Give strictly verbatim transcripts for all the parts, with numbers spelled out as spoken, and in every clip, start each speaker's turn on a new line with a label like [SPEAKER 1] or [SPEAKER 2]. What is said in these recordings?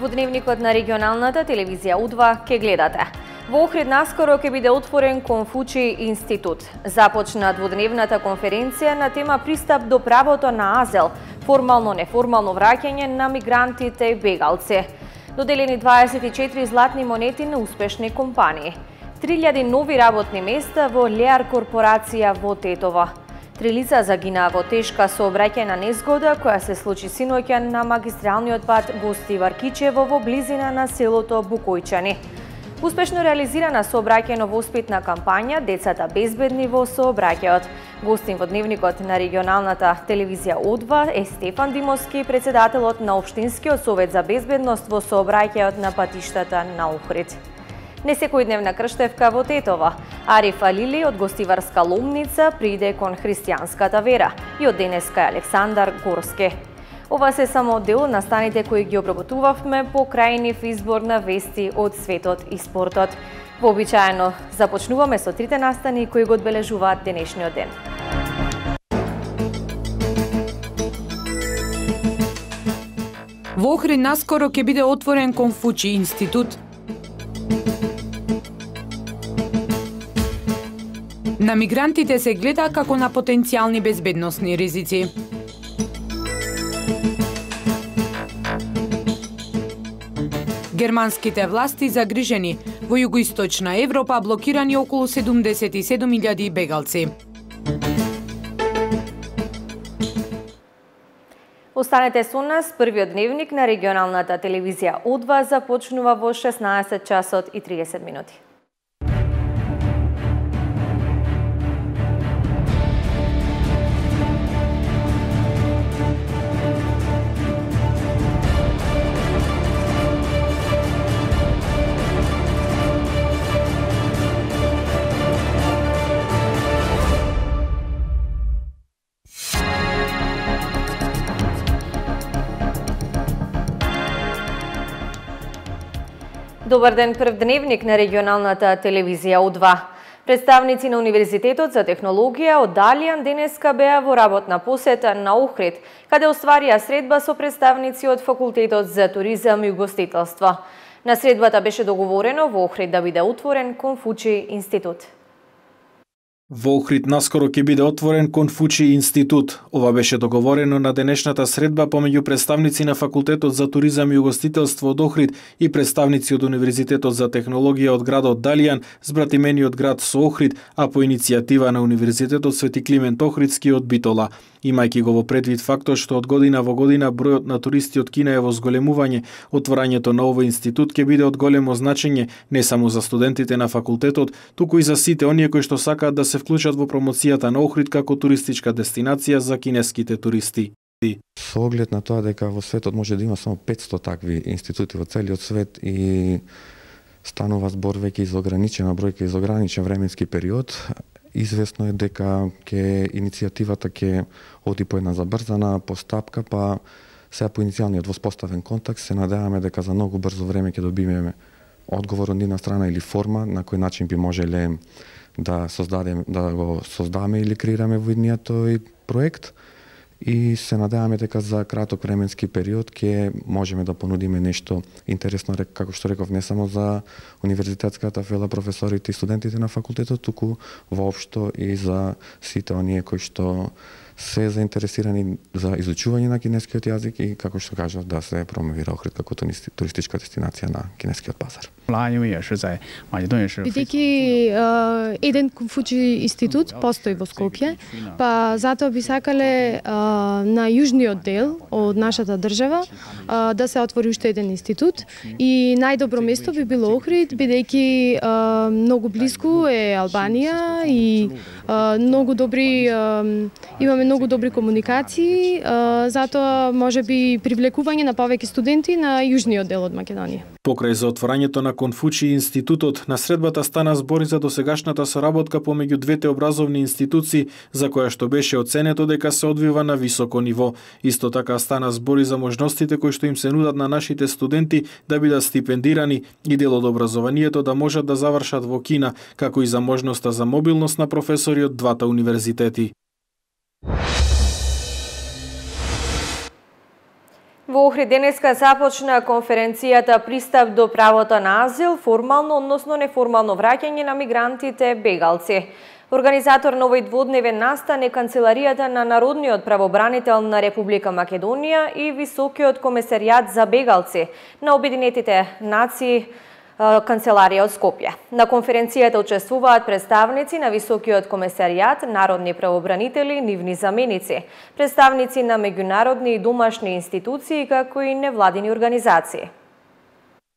[SPEAKER 1] во дневникот на регионалната телевизија У два ке гледате. Во Охрид наскоро ќе биде отворен Конфуци институт. Започна двудневната конференција на тема пристап до правото на азил, формално-неформално враќање на мигрантите и бегалци. Доделени дваесет и четири златни монети на успешни компании. три илјади нови работни места во Леар корпорација во Тетово. Три лица загинаа во тешка сообраќајна незгода која се случи синоќа на магистралниот пат Гостивар-Кичево во близина на селото Букојчани. Успешно реализирана сообраќајно-воспитна кампања Децата безбедни во сообраќајот. Гостин во дневникот на регионалната телевизија У два е Стефан Димовски, председателот на Општинскиот совет за безбедност во сообраќајот на патиштата на Охрид. Несекојдневна крштевка во Тетово. Ариф Алили од Гостиварска Ломница приде кон христијанската вера и од денеска е Александар Горски. Ова се само дел на станите кои ги обработувавме по крајнив избор на вести од светот и спортот. Вообичаено започнуваме со трите настани кои го одбележуваат денешниот ден.
[SPEAKER 2] Во Охрид наскоро ќе биде отворен Конфуци институт. На мигрантите се гледа како на потенцијални безбедносни ризици. Германските власти загрижени, во југоисточна Европа блокирани околу седумдесет и седум илјади бегалци.
[SPEAKER 1] Останете со нас, првиот дневник на регионалната телевизија У два започнува во шеснаесет часот и триесет минути. Добар ден, прв дневник на регионалната телевизија У два. Представници на Универзитетот за технологија од Далијан денеска беа во работна посета на Охрид, каде остварија средба со представници од Факултетот за туризам и угостителство. На средбата беше договорено во Охрид да биде отворен Конфуци институт.
[SPEAKER 3] Во Охрид наскоро ќе биде отворен Конфуци институт. Ова беше договорено на денешната средба помеѓу представници на Факултетот за туризам и угостителство од Охрид и представници од Универзитетот за технологија од градот Далијан, збратимениот град со Охрид, а по иницијатива на Универзитетот Свети Климент Охридски од Битола. Имајќи го во предвид фактот што од година во година бројот на туристи од Кина е во зголемување, отворањето на овој институт ќе биде од големо значење не само за студентите на факултетот, туку и за сите оние кои што сакаат да се вклучат во промоцијата на Охрид како туристичка дестинација за кинеските туристи.
[SPEAKER 4] Со оглед на тоа дека во светот може да има само петсто такви институти во целиот свет и станува збор веќе за ограничена бројка и за ограничен временски период, известно е дека ќе иницијативата ќе оди по една забрзана постапка, па сега по иницијалниот воспоставен контакт се надеваме дека за многу брзо време ќе добиеме одговор од нивна страна или форма на кој начин би можеле да создадеме, да го создаме или креираме во идниот тој проект. И се надеваме дека за краток временски период ќе можеме да понудиме нешто интересно, како што реков, не само за универзитетската фела, професорите и студентите на факултетот, туку воопшто и за сите оние кои што се заинтересирани за изучување на кинескиот јазик и, како што кажав, да се промовира Охрид како туристичка дестинација на кинескиот пазар.
[SPEAKER 5] Бидејќи еден Конфуци институт постои во Скопје, па затоа би сакале а, на јужниот дел од нашата држава а, да се отвори уште еден институт и најдобро место би било Охрид, бидејќи а, многу близко е Албанија и а, многу добри а, имаме многу добри комуникации, а, затоа можеби привлекување на повеќе студенти на јужниот дел од Македонија.
[SPEAKER 3] Покрај за отворањето на Конфуци институтот, на средбата стана збори за досегашната соработка помеѓу двете образовни институции, за која што беше оценето дека се одвива на високо ниво. Исто така стана збори за можностите кои што им се нудат на нашите студенти да бидат стипендирани и дел од образованието да можат да завршат во Кина, како и за можноста за мобилност на професори од двата универзитети.
[SPEAKER 1] Во Охрид денеска започна конференцијата Пристап до правото на азил, формално, односно неформално враќање на мигрантите бегалци. Организатор на овој дводневен настан е Канцеларијата на Народниот правобранител на Република Македонија и Високиот комесаријат за бегалци на Обединетите нации, Канцеларија од Скопје. На конференцијата учествуваат представници на Високиот комесаријат, народни правобранители, нивни заменици, представници на меѓународни и домашни институции, како и невладини организации.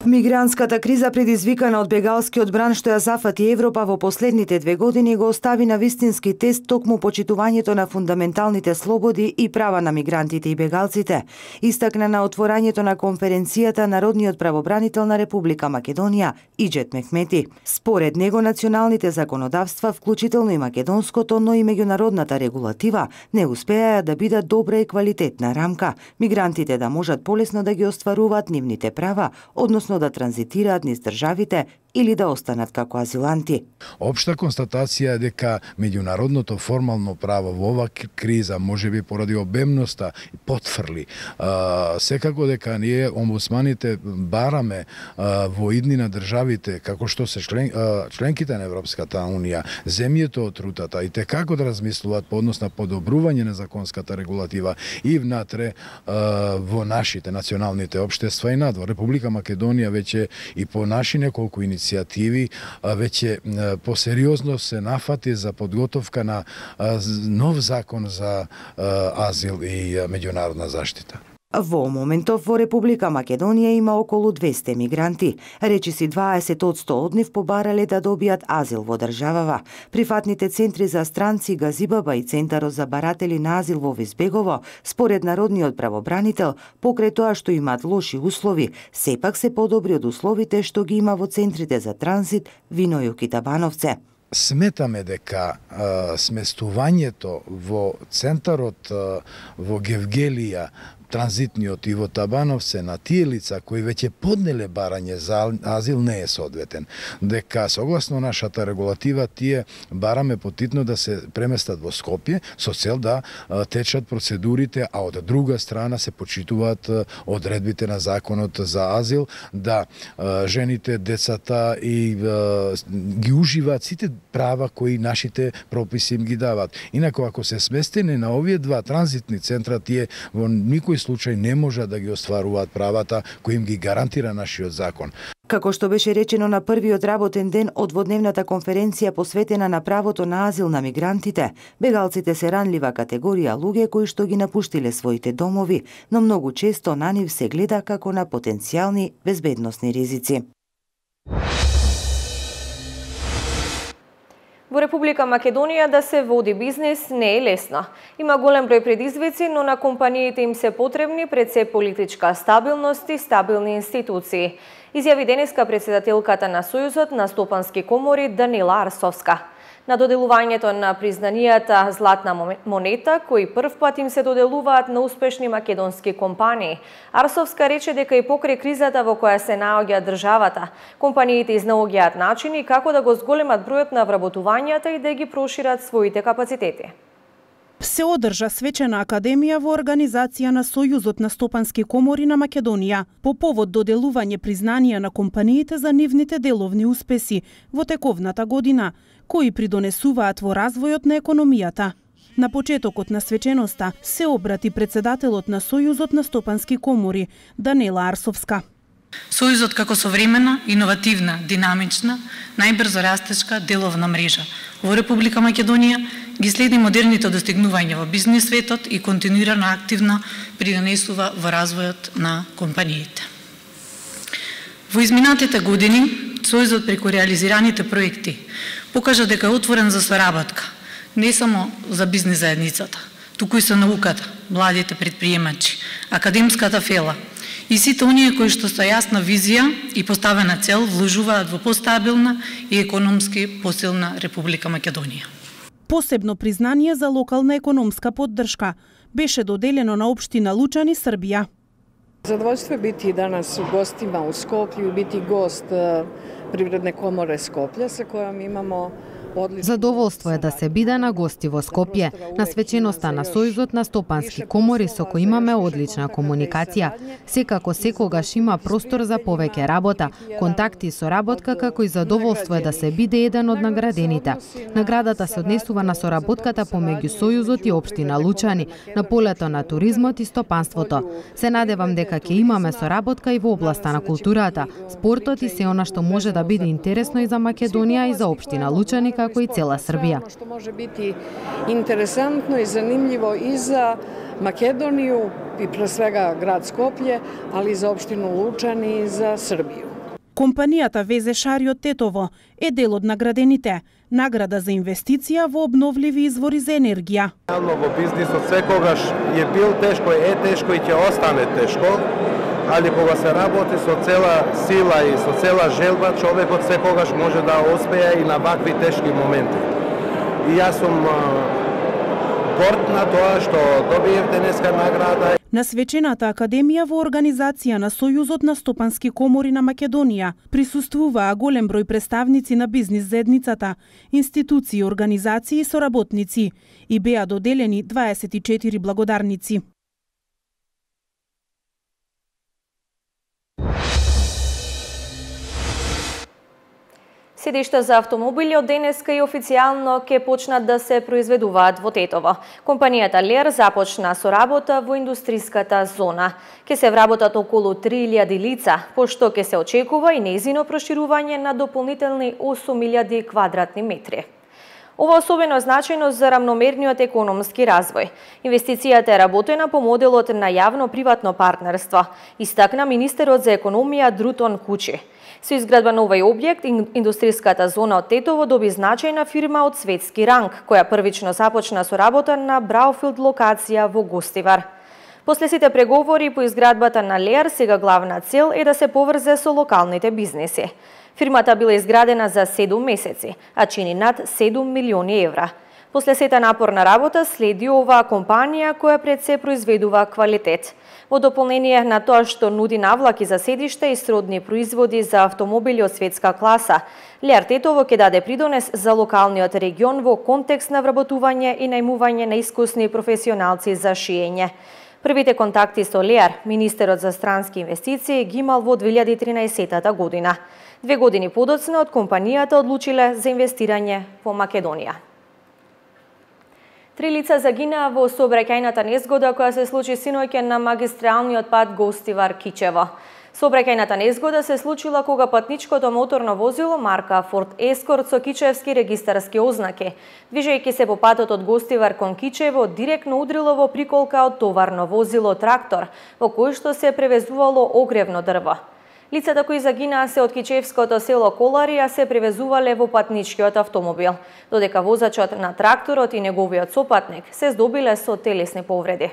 [SPEAKER 6] Мигрантската криза, предизвикана од бегалскиот бран што ја зафати Европа во последните две години, го остави на вистински тест токму почитувањето на фундаменталните слободи и права на мигрантите и бегалците, истакна на отворањето на конференцијата Народниот правобранител на Република Македонија Иџет Мехмети. Според него, националните законодавства, вклучително и македонското, но и меѓународната регулатива, не успеаја да бидат добра и квалитетна рамка, мигрантите да можат полесно да ги остваруваат нивните права, односно да транзитираат низ државите или да останат како азиланти.
[SPEAKER 7] Обшта констатација е дека меѓународното формално право во ова криза, можеби поради обемноста, потврли. А, секако дека ние, омбудсманите, бараме а, во идни на државите, како што се член, а, членките на Европската Унија, земјето од рутата и те како да размислуваат по однос на подобрување на законската регулатива и внатре а, во нашите националните општества и надвор. Република Македонија веќе и по наши неколку иницијативи веќе посериозно се нафати за подготовка на нов закон за азил и меѓународна заштита.
[SPEAKER 6] Во моментов во Република Македонија има околу двесте мигранти. Речиси дваесет одсто од нив побарале да добијат азил во државава. Прифатните центри за странци Газибаба и Центарот за баратели на азил во Везбегово, според Народниот правобранител, покрај тоа што имаат лоши услови, сепак се подобри од условите што ги има во центрите за транзит Винојук и Табановце.
[SPEAKER 7] Сметаме дека а, сместувањето во центарот а, во Гевгелија, транзитниот и во Табановце на тие лица кои веќе поднеле барање за азил не е соодветен. Дека согласно нашата регулатива тие бараме потитно да се преместат во Скопје со цел да течат процедурите, а од друга страна се почитуваат одредбите на законот за азил, да жените, децата и ги уживаат сите права кои нашите прописи им ги дават. Инако ако се сместени на овие два транзитни центра, тие во никој случај не може да ги остваруваат правата кои им ги гарантира нашиот закон.
[SPEAKER 6] Како што беше речено на првиот работен ден од дводневната конференција посветена на правото на азил на мигрантите, бегалците се ранлива категорија луѓе кои што ги напуштиле своите домови, но многу често на нив се гледа како на потенцијални безбедносни ризици.
[SPEAKER 1] Во Република Македонија да се води бизнис не е лесно. Има голем број предизвици, но на компаниите им се потребни пред се политичка стабилност и стабилни институции. Изјави денеска председателката на Сојузот на стопански комори Данила Арсовска. На доделувањето на признанијата Златна монета, кои прв пат им се доделуваат на успешни македонски компании, Арсовска рече дека и покрај кризата во која се наоѓа државата, компаниите изнаоѓаат начини како да го зголемат бројот на вработувањата и да ги прошират своите капацитети.
[SPEAKER 8] Се одржа свечена академија во организација на Сојузот на стопански комори на Македонија по повод доделување признанија на компаниите за нивните деловни успеси во тековната година, кои придонесуваат во развојот на економијата. На почетокот на свеченоста се обрати председателот на Сојузот на стопански комори Данила Арсовска.
[SPEAKER 9] Сојузот како современа, иновативна, динамична, најбрзо растечка деловна мрежа во Република Македонија ги следи модерните достигнувања во бизнис светот и континуирано активно придонесува во развојот на компаниите. Во изминатите години, Сојузот преку реализираните проекти покажа дека е отворен за соработка, не само за бизнис заедницата, туку и со науката, младите предприемачи, академската фела и сите оние кои што со јасна визија и поставена цел вложуваат во постабилна и економски посилна Република Македонија.
[SPEAKER 8] Посебно признание за локална економска поддршка беше доделено на општина Лучани, Србија.
[SPEAKER 10] Задоволство е бити данас у гостима у Скопју, бити гост Привредне коморе Скопје, со којом имамо
[SPEAKER 11] Задоволство е да се биде на гости во Скопје, на свеченоста на Сојузот на стопански комори со кој имаме одлична комуникација. Секако секогаш има простор за повеќе работа, контакти и соработка, како и задоволство е да се биде еден од наградените. Наградата се однесува на соработката помеѓу Сојузот и општина Лучани, на полето на туризмот и стопанството. Се надевам дека ќе имаме соработка и во областа на културата, спортот и се она што може да биде интересно и за Македонија и за општина Лучани, како и цела Србија.
[SPEAKER 10] Што може бити интересантно и занимљиво и за Македонiju и пре свега град Скопје, али и за општину Лучани и за Србију.
[SPEAKER 8] Компанијата Везе Шари од Тетово е дел од наградените. Награда за инвестиција во обновливи извори за енергија.
[SPEAKER 12] Во бизнисот секогаш е бил тешко, е тешко и ќе остане тешко, али кога се работи со цела сила и со цела желба, човекот секогаш може да успее и на вакви тешки моменти. И јас сум горд на тоа што добиев денеска награда.
[SPEAKER 8] На свечената академија во организација на Сојузот на стопански комори на Македонија присуствуваа голем број представници на бизнис заедницата, институции, организации и соработници и беа доделени дваесет и четири благодарници.
[SPEAKER 1] Седишта за автомобили од денеска и официјално ќе почнат да се произведуваат во Тетово. Компанијата Лер започна со работа во индустријската зона. Ке се вработат околу три илјади лица, пошто ке се очекува и нејзино проширување на дополнителни осум илјади квадратни метри. Ова особено е значајно за рамномерниот економски развој. Инвестицијата е работена по моделот на јавно-приватно партнерство, истакна министерот за економија Друтон Кучи. Со изградба на овој објект, индустријската зона од Тетово доби значајна фирма од светски ранг, која првично започна со работа на браунфилд локација во Гостивар. После сите преговори по изградбата на Леар, сега главна цел е да се поврзе со локалните бизнеси. Фирмата била изградена за седум месеци, а чини над седум милиони евра. После сета напорна работа следи оваа компанија која пред се произведува квалитет. Во дополнение на тоа што нуди навлаки за седиште и сродни производи за автомобили од светска класа, Леар Тетово ќе даде придонес за локалниот регион во контекст на вработување и најмување на искусни професионалци за шиење. Првите контакти со Леар, министерот за странски инвестиции, ги имал во две илјади и тринаесетта година. Две години подоцна од компанијата одлучиле за инвестирање во Македонија. Три лица загинаа во сообраќајната незгода која се случи синоќа на магистралниот пат Гостивар-Кичево. Сообраќајната незгода се случила кога патничкото моторно возило марка Ford Escort со кичевски регистарски ознаки, движејќи се по патот од Гостивар кон Кичево, директно удрило во приколка од товарно возило трактор, во кој што се превезувало огревно дрво. Лицата кои загинаа се од кичевското село Колари, а се превезувале во патничкиот автомобил, додека возачот на тракторот и неговиот сопатник се здобиле со телесни повреди.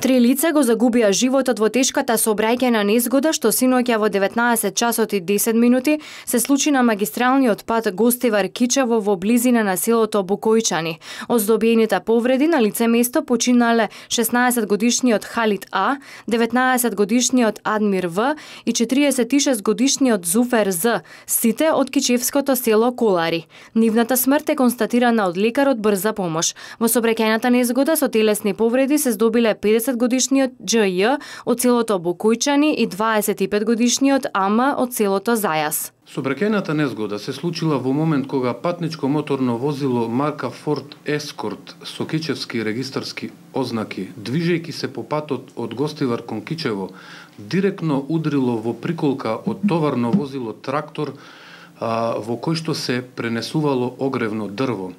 [SPEAKER 13] Три лица го загубија животот во тешката сообраќајна незгода што синоќа во деветнаесет часот и десет минути се случи на магистралниот пат Гостивар-Кичево во близина на селото Букојчани. Од здобиените повреди на лице место починале шеснаесет годишниот Халид А, деветнаесет годишниот Адмир В и четириесет и шест годишниот Зуфер З, сите од кичевското село Колари. Нивната смрт е констатирана од лекар од брза помош. Во сообраќајната незгода со телесни повреди се здобиле педесет годишниот Дж Ј од селото Букојчани и дваесет и пет годишниот Ама од селото Зајас.
[SPEAKER 14] Сообраќајната незгода се случила во момент кога патничко моторно возило марка Ford Escort со кичевски регистарски ознаки, движејќи се по патот од Гостивар кон Кичево, директно удрило во приколка од товарно возило трактор а, во кој што се пренесувало огревно дрво.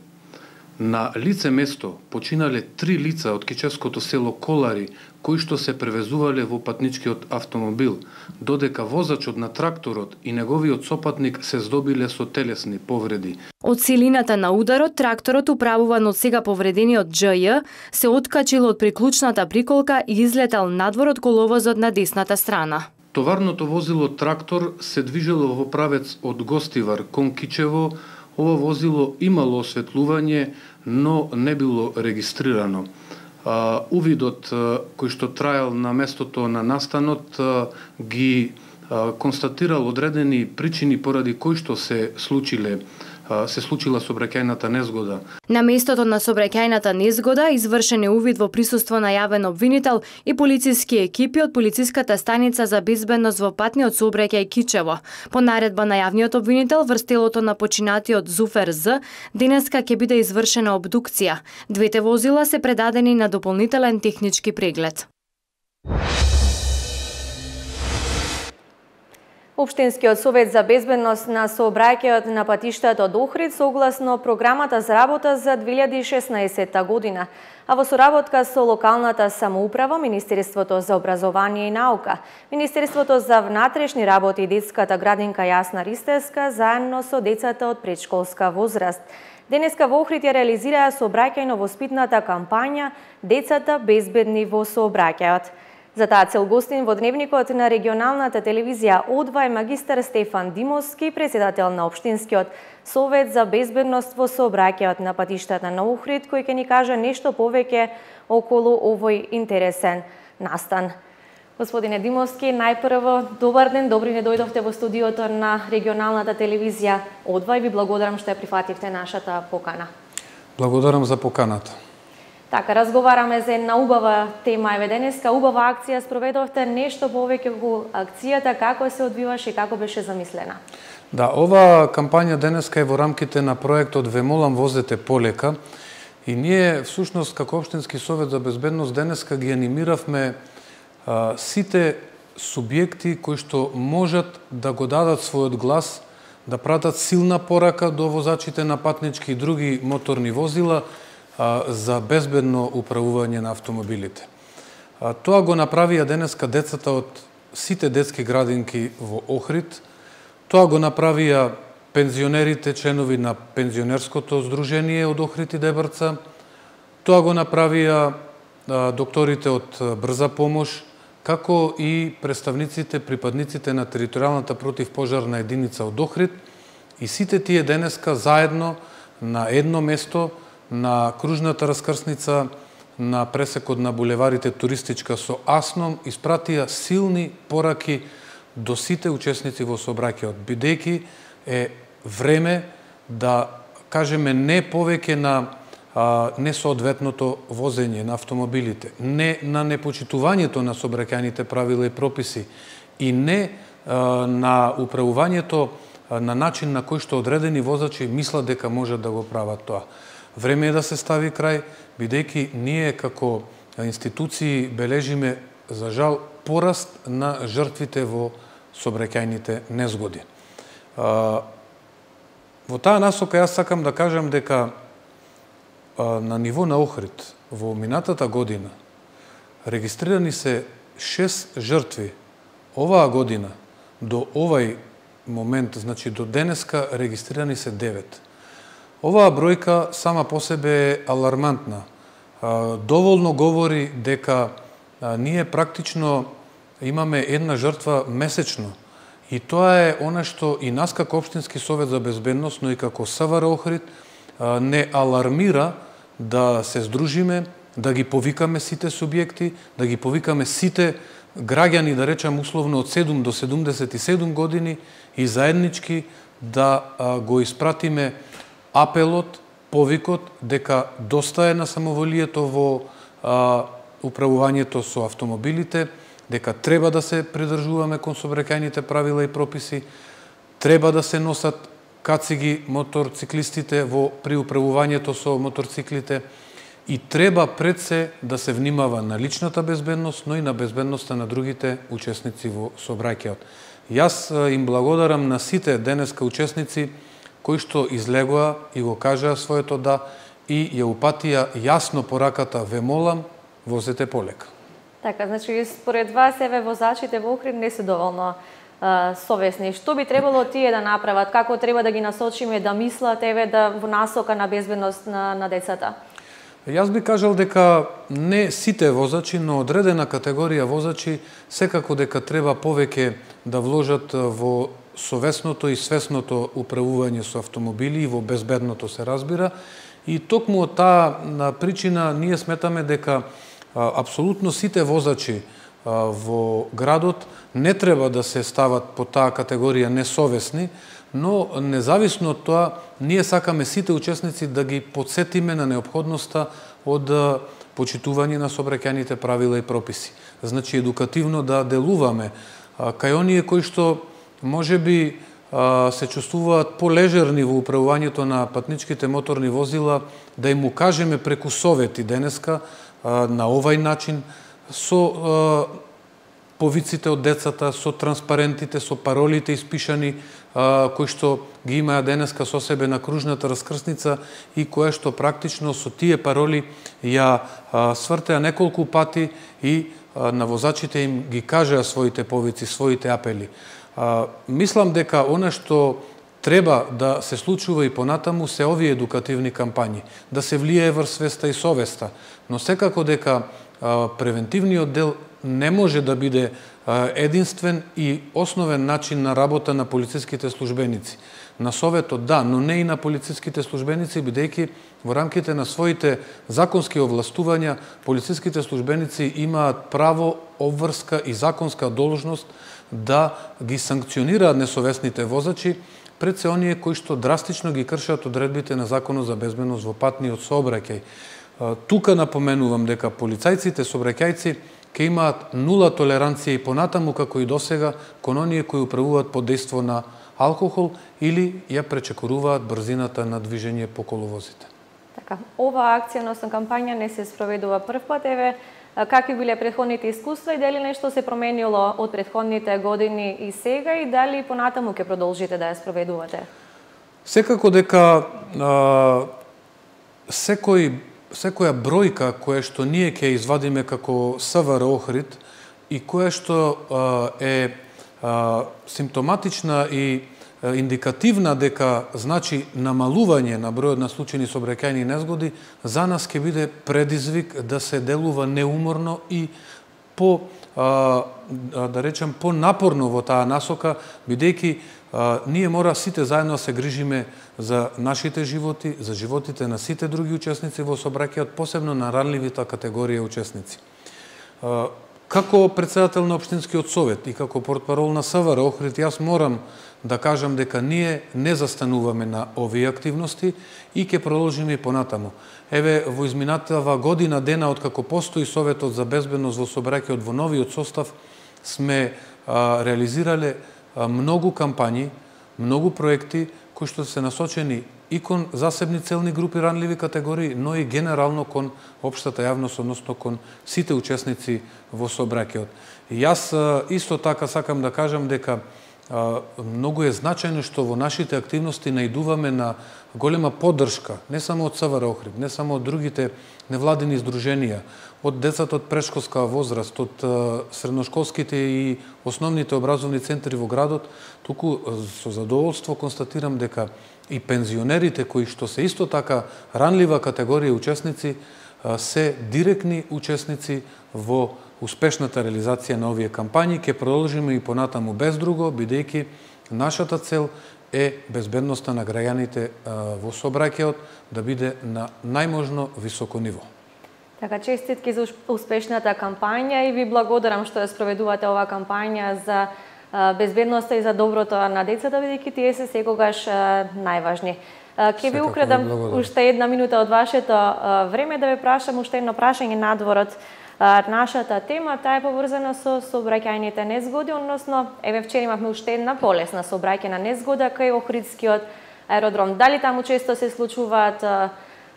[SPEAKER 14] На лице место починале три лица од кичевското село Колари, кои што се превезувале во патничкиот автомобил, додека возачот на тракторот и неговиот сопатник се здобиле со телесни повреди.
[SPEAKER 13] Од силината на ударот, тракторот управуван од сега повредениот Дж Ј се откачил од приклучната приколка и излетал надвор од коловозот на десната страна.
[SPEAKER 14] Товарното возило трактор се движело во правец од Гостивар кон Кичево. Ова возило имало осветлување, но не било регистрирано. А, увидот а, кој што траел на местото на настанот а, ги а, констатирал одредени причини поради кои што се случиле се случила сообраќајната незгода.
[SPEAKER 13] На местото на сообраќајната незгода извршен е увид во присуство на јавен обвинител и полициски екипи од полициската станица за безбедност во патниот сообраќај Кичево. По наредба на јавниот обвинител врз телото на починатиот Зуфер З, денеска ќе биде извршена обдукција. Двете возила се предадени на дополнителен технички преглед.
[SPEAKER 1] Општинскиот совет за безбедност на сообраќајот на патиштата од Охрид согласно програмата за работа за две илјади и шеснаесетта година, а во соработка со локалната самоуправа, Министерството за образование и наука, Министерството за внатрешни работи и детската градинка Јасна Ристевска, заедно со децата од предшколска возраст. Денеска во Охрид ја реализираа сообраќајно-воспитната кампања "Децата безбедни во сообраќајот". За таа цел гостин во дневникот на регионалната телевизија О два е магистар Стефан Димовски, председател на Општинскиот совет за безбедност во сообраќајот на патиштата на Охрид, кој ќе ни каже нешто повеќе околу овој интересен настан. Господине Димовски, најпрво добар ден, добри не дојдовте во студиото на регионалната телевизија О два и ви благодарам што ја прифативте нашата покана.
[SPEAKER 14] Благодарам за поканата.
[SPEAKER 1] Така, разговараме за една убава тема. Еве денеска убава акција спроведовте, нешто повеќе околу акцијата, како се одвиваше и како беше замислена?
[SPEAKER 14] Да, оваа кампања денеска е во рамките на проектот "Ве молам возете полека" и ние всушност како Општински совет за безбедност денеска ги анимиравме а, сите субјекти кои што можат да го дадат својот глас, да пратат силна порака до возачите на патнички и други моторни возила за безбедно управување на автомобилите. Тоа го направија денеска децата од сите детски градинки во Охрид, тоа го направија пензионерите, членови на пензионерското здружение од Охрид и Дебрца, тоа го направија докторите од Брза помош, како и представниците, припадниците на територијалната противпожарна единица од Охрид, и сите тие денеска заедно на едно место на кружната раскрсница на пресекот на булеварите Туристичка со Асном испратија силни пораки до сите учесници во сообраќајот, бидејќи е време да кажеме не повеќе на а, несоодветното возење на автомобилите, не на непочитувањето на сообраќајните правила и прописи и не а, на управувањето а, на начин на кој што одредени возачи мислат дека можат да го прават тоа. Време е да се стави крај, бидејќи ние како институции бележиме, за жал, пораст на жртвите во сообраќајните незгоди. Во таа насока јас сакам да кажам дека на ниво на Охрид во минатата година регистрирани се шест жртви. Оваа година до овај момент, значи до денеска, регистрирани се девет. Оваа бројка сама по себе е алармантна. Доволно говори дека ние практично имаме една жртва месечно. И тоа е она што и нас како Општински совет за безбедност, но и како СВР Охрид не алармира да се здружиме, да ги повикаме сите субјекти, да ги повикаме сите граѓани, да речам условно од седум до седумдесет и седум години и заеднички да го испратиме апелот, повикот дека доста е на самоволието во а, управувањето со автомобилите, дека треба да се придржуваме кон сообраќајните правила и прописи, треба да се носат кациги моторциклистите во при управувањето со моторциклите и треба пред се да се внимава на личната безбедност, но и на безбедноста на другите учесници во сообраќајот. Јас им благодарам на сите денеска учесници кои што излегоа и го кажаа своето да и ја упатија јасно пораката "Ве молам, возете полека".
[SPEAKER 1] Така, значи според вас еве возачите во Охрид не се доволно а, совесни. Што би требало тие да направат? Како треба да ги насочиме да мислат еве да во насока на безбедност на, на децата?
[SPEAKER 14] Јас би кажал дека не сите возачи, но одредена категорија возачи секако дека треба повеќе да вложат во совесното и свесното управување со автомобили и во безбедното, се разбира. И токму од таа причина ние сметаме дека а, апсолутно сите возачи а, во градот не треба да се стават по таа категорија несовесни, но независно од тоа, ние сакаме сите учесници да ги подсетиме на необходноста од почитување на сообраќајните правила и прописи. Значи, едукативно да делуваме кај оние кои што можеби се чувствуваат полежерни во управувањето на патничките моторни возила, да им укажеме преку совети денеска на овај начин, со повиците од децата, со транспарентите, со паролите испишани, кои што ги имаа денеска со себе на кружната раскрсница и кое што практично со тие пароли ја свртеа неколку пати и на возачите им ги кажеа своите повици, своите апели. Мислам дека она што треба да се случува и понатаму се овие едукативни кампањи, да се влијае врз свеста и совеста, но секако дека превентивниот дел не може да биде единствен и основен начин на работа на полициските службеници. На советот да, но не и на полициските службеници, бидејќи во рамките на своите законски овластувања полициските службеници имаат право, обврска и законска должност да ги санкционираат несовесните возачи пред се оние кои што драстично ги кршат одредбите на Законот за безбедност во патниот сообраќај. Тука напоменувам дека полицајците сообраќајци ќе имаат нула толеранција и понатаму како и досега кон оние кои управуваат под дејство на алкохол или ја пречекоруваат брзината на движење по коловозите.
[SPEAKER 1] Така, ова акција, односно кампања не се спроведува прв пат, еве какви биле претходните искуства и дали нешто се променило од претходните години и сега и дали понатаму ќе продолжите да ја спроведувате?
[SPEAKER 14] Секако дека а, секој секоја бројка која што ние ќе извадиме како СВР Охрид и која што а, е а, симптоматична и а, индикативна дека значи намалување на бројот на случајни сообраќајни незгоди, за нас ќе биде предизвик да се делува неуморно и по а, да речем по напорно во таа насока, бидејќи ние мора сите заедно се грижиме за нашите животи, за животите на сите други учесници во сообраќајот, посебно на ранливите категорија учесници. Како председател на Општинскиот совет и како портпарол на СВР Охрид, јас морам да кажам дека ние не застануваме на овие активности и ќе продолжиме и понатаму. Еве, во изминатава година дена откако постои Советот за безбедност во сообраќајот во новиот состав, сме а, реализирале а, многу кампањи, многу проекти кои што се насочени и кон засебни целни групи ранливи категории, но и генерално кон општата јавност, односно кон сите учесници во сообраќајот. И јас а, исто така сакам да кажам дека а, многу е значајно што во нашите активности наидуваме на голема поддршка, не само од СВР Охрид, не само од другите невладини издруженија, од децата од претшколска возраст, од средношколските и основните образовни центри во градот, туку со задоволство констатирам дека и пензионерите кои што се исто така ранлива категорија учесници, се директни учесници во успешната реализација на овие кампањи. Ќе продолжиме и понатаму без друго, бидејќи нашата цел е безбедноста на граѓаните во сообраќајот да биде на најможно високо ниво.
[SPEAKER 1] Така, честитки за успешната кампања и ви благодарам што ја спроведувате оваа кампања за безбедноста и за доброто на децата, бидејќи тие се секогаш најважни. Ке ви украдам уште една минута од вашето време да ве прашам уште едно прашање надворот. Нашата тема таа е поврзана со сообраќајните незгоди, односно еве вчера имавме уште една полесна сообраќајна незгода кај Охридскиот аеродром. Дали таму често се случуваат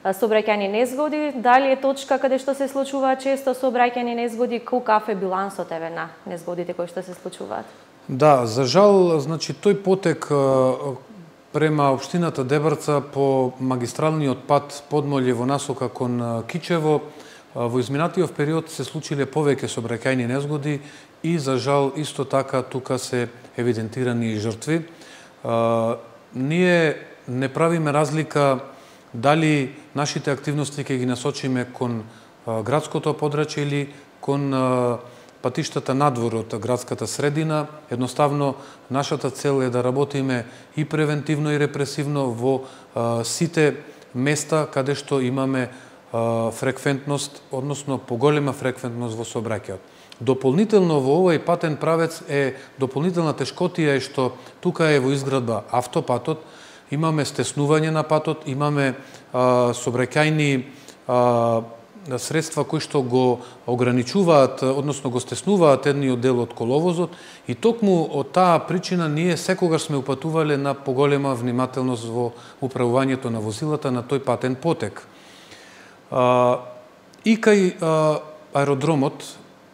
[SPEAKER 1] сообраќајни незгоди, дали е точка каде што се случуваат често сообраќајни незгоди, каков е билансот еве на незгодите кои што се случуваат?
[SPEAKER 14] Да, за жал, значи тој потек према општината Дебрца по магистралниот пат Подмолје во насока кон Кичево во изминатиот период се случиле повеќе сообраќајни незгоди и за жал исто така тука се евидентирани и жртви. Ние не правиме разлика дали нашите активности ќе ги насочиме кон градското подрачје или кон патиштата надвор од градската средина. Едноставно, нашата цел е да работиме и превентивно и репресивно во сите места каде што имаме фреквентност, односно поголема фреквентност во сообраќајот. Дополнително во овој патен правец е дополнителна тешкотија е што тука е во изградба автопатот, имаме стеснување на патот, имаме а, собраќајни а, средства кои што го ограничуваат, односно го стеснуваат едниот дел од коловозот и токму од таа причина ние секогаш сме упатувале на поголема внимателност во управувањето на возилата на тој патен потек. А, и кај а, аеродромот,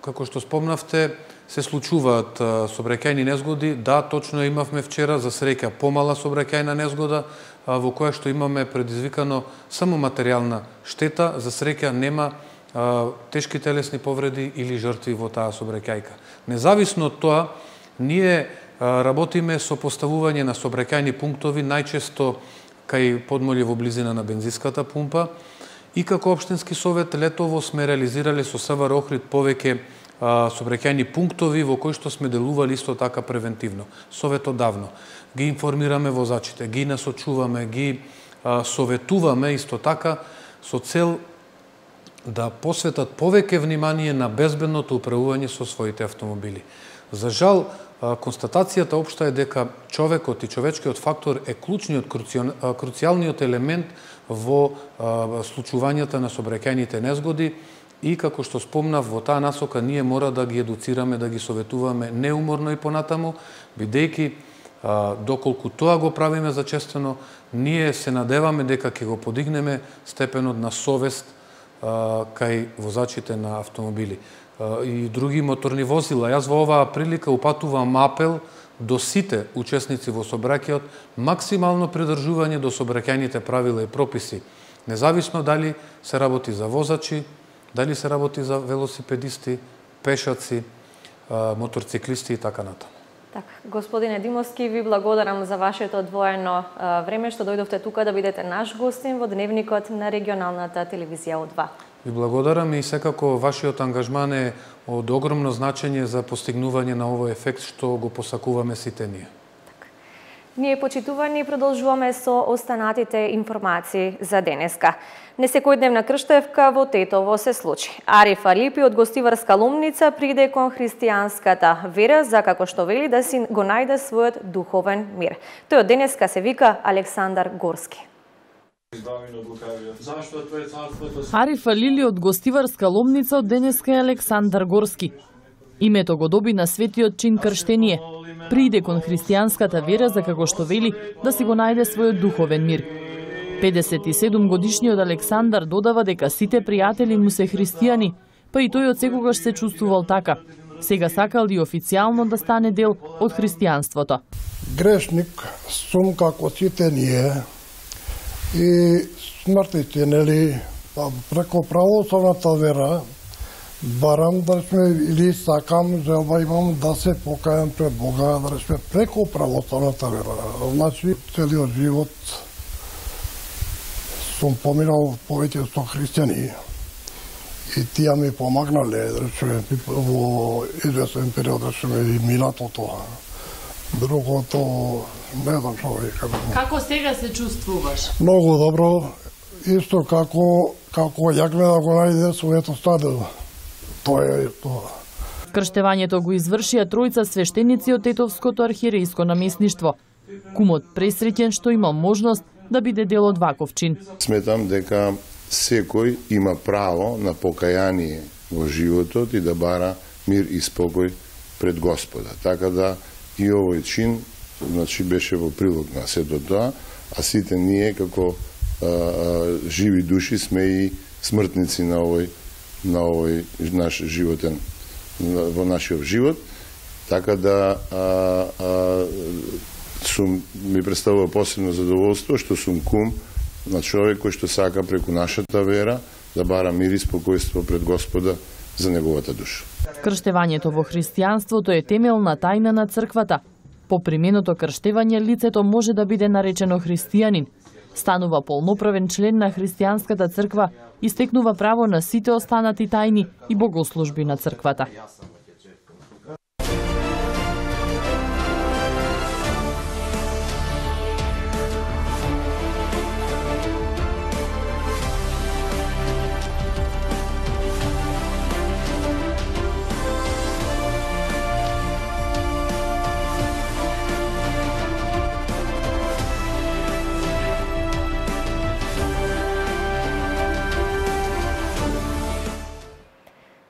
[SPEAKER 14] како што спомнавте, се случуваат сообраќајни незгоди. Да, точно имавме вчера, за среќа, помала сообраќајна незгода, во која што имаме предизвикано само материјална штета. За среќа нема а, тешки телесни повреди или жртви во таа сообраќајка. Независно од тоа, ние а, работиме со поставување на сообраќајни пунктови, најчесто кај подмолје во близина на бензинската пумпа. И како општински совет летово сме реализирале со СВР Охрид повеќе сообраќајни пунктови во кои што сме делували исто така превентивно. Советот давно. Ги информираме возачите, ги насочуваме, ги а, советуваме исто така со цел да посветат повеќе внимание на безбедното управување со своите автомобили. За жал, а, констатацијата општа е дека човекот и човечкиот фактор е клучниот, круцијалниот елемент во а, случувањата на сообраќајните незгоди. И како што спомнав, во таа насока ние мора да ги едуцираме, да ги советуваме неуморно и понатаму, бидејќи доколку тоа го правиме зачестено, ние се надеваме дека ќе го подигнеме степенот на совест а, кај возачите на автомобили а, и други моторни возила. Јас во оваа прилика упатувам апел до сите учесници во сообраќајот, максимално придржување до сообраќајните правила и прописи, независно дали се работи за возачи, дали се работи за велосипедисти, пешаци, моторциклисти и така натаму.
[SPEAKER 1] Так, господине Димовски, ви благодарам за вашето одвоено време што дојдовте тука да бидете наш гостин во дневникот на регионалната телевизија О два.
[SPEAKER 14] Ви благодарам и секако вашиот ангажман е од огромно значење за постигнување на овој ефект што го посакуваме сите ние.
[SPEAKER 1] Ние, почитувани, продолжуваме со останатите информации за денеска. Несекојдневна крштевка во Тетово се случи. Ариф Алипи од гостиварска Ломница приде кон христијанската вера, за како што вели да си го најде својот духовен мир. Тој од денеска се вика Александар Горски.
[SPEAKER 15] Ариф Алили од гостиварска Ломница од денеска е Александар Горски. Името го доби на светиот чин крштение. Прииде кон христијанската вера за како што вели да си го најде својот духовен мир. педесет и седум годишниот Александар додава дека сите пријатели му се христијани, па и тој од секогаш се чувствувал така. Сега сакал и официјално да стане дел од христијанството.
[SPEAKER 16] Грешник сум како сите ние и смртите, нели, преко православната вера, барам да сме или сакам, желба имам да се покајам пред Бога, да сме преко православната вера. Значи, целиот живот сум поминал повеќе со христијани и тие ми помагнале, да сме во известен период, да сме и минато тоа. Другото, не знам што ви кажам.
[SPEAKER 15] Како сега се чувствуваш?
[SPEAKER 16] Многу добро, исто како, како јакме да го најде своето стадо. Тоа е тоа.
[SPEAKER 15] Крштевањето го извршија тројца свештеници од Тетовското архиерејско наместништво. Кумот пресреќен што има можност да биде дел од ваков чин.
[SPEAKER 17] Сметам дека секој има право на покаяние во животот и да бара мир и спокој пред Господа. Така да и овој чин, значи, беше во прилог на сето тоа, а сите ние како а, а, живи души сме и смртници на овој на овој наш животен, во нашиот живот, така да а, а, сум, ми представува посебно задоволство што сум кум на човек кој што сака преку нашата вера да бара мир и спокојство пред Господа за неговата душа.
[SPEAKER 15] Крштевањето во христијанството е темелна тајна на црквата. По применото крштевање лицето може да биде наречено христијанин. Станува полноправен член на христијанската црква и стекнува право на сите останати тајни и богослужби на црквата.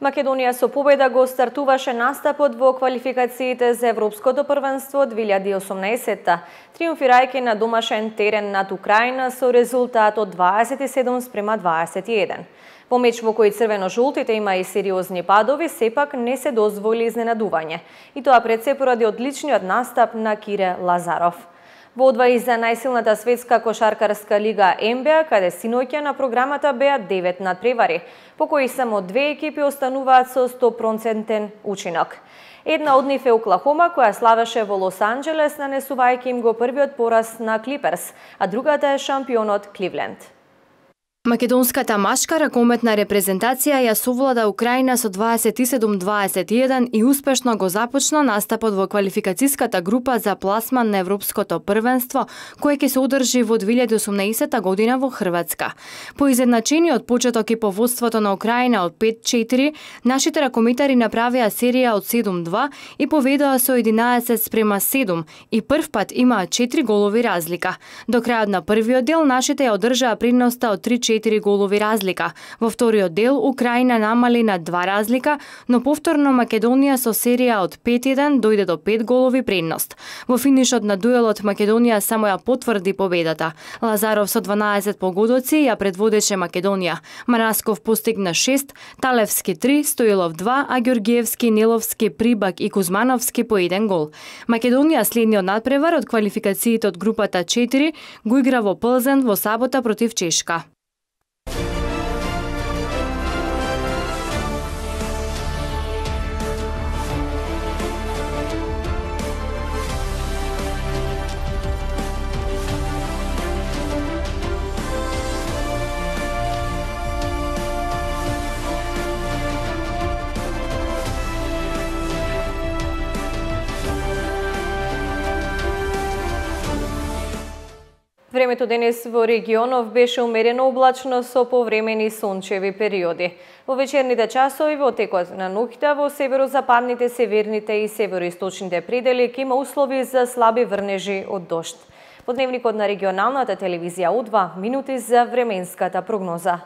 [SPEAKER 1] Македонија со победа го стартуваше настапот во квалификациите за Европското првенство две илјади и осумнаесетта, триумфирајќи на домашен терен над Украина со резултат од дваесет и седум спрема дваесет и еден. Во меч во кој црвено-жолтите има и сериозни падови, сепак не се дозволи изненадување, и тоа пред се поради одличниот настап на Кире Лазаров. Во одвај за најсилната светска кошаркарска лига Н Б А, каде синоќа на програмата беа девет надпревари, по кои само две екипи остануваат со сто проценти учинок. Една од нив е Оклахома, која славеше во Лос Анџелес, нанесувајќи им го првиот пораз на Клиперс, а другата е шампионот Кливленд.
[SPEAKER 13] Македонската машка ракометна репрезентација ја совлада Украина со дваесет и седум дваесет и еден и успешно го започна настапот во квалификацијската група за пласман на Европското првенство, кој ќе се одржи во две илјади и осумнаесетта година во Хрватска. По изедначениот почеток и по водството на Украина од пет четири, нашите ракометари направија серија од седум два и поведоа со единаесет спрема седум и прв пат имаа четири голови разлика. До крајот на првиот дел нашите ја одржаа предноста од три четири голови разлика. Во вториот дел Украина намали на два разлика, но повторно Македонија со серија од пет еден дојде до пет голови предност. Во финишот на дуелот Македонија само ја потврди победата. Лазаров со дванаесет погодоци ја предводеше Македонија. Манасков постигна шест, Талевски три, Стоилов два, а Ѓоргиевски, Неловски, Прибак и Кузмановски по еден гол. Македонија следниот надпревар од квалификациите од групата четири го игра во Плзен во сабота против Чешка.
[SPEAKER 1] Времето денес во регионов беше умерено облачно со повремени сончеви периоди. Во вечерните часови во текот на ноќта во северозападните, северните и североисточните предели ќе има услови за слаби врнежи од дожд. Во дневникот на регионалната телевизија У два минути за временската прогноза.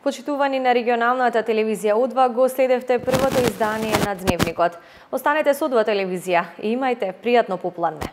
[SPEAKER 1] Почитувани на регионалната телевизија У два, го следевте првото издание на Дневникот. Останете со У два телевизија и имајте пријатно попладне.